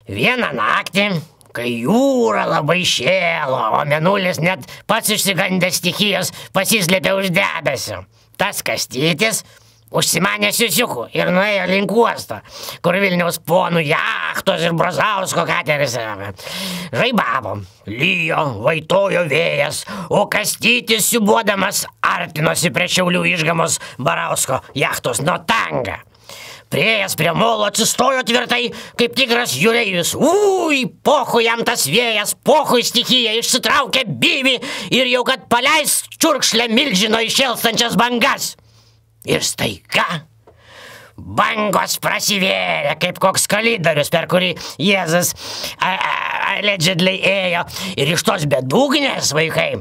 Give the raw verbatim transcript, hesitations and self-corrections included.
Vieną naktį, kai jūra labai šėlo, o mėnulis net pats išsigandęs stichijos pasislėpė už debesio, tas Kastytis užsimanė siusiukų ir nuėjo link uosto, kur Vilniaus ponų jachtos ir Brazausko kateris žaibavo. Lijo, vaitojo vėjas, o Kastytis siūbuodamas artinosi prie Šiaulių Išgamos Barausko jachtos Notanga. Priėjęs prie molo atsistojo tvirtai, kaip tikras jūreivis. Ui, pohui jam tas vėjas, pohui stichija išsitraukė bivį ir jau kad paleis čiurkšlę milžino iššėlstančias bangas. Ir staiga bangos prasivėrė, kaip koks kalidorius, per kurį Jėzus allegedly ėjo. Ir iš tos bedugnės, vaikai,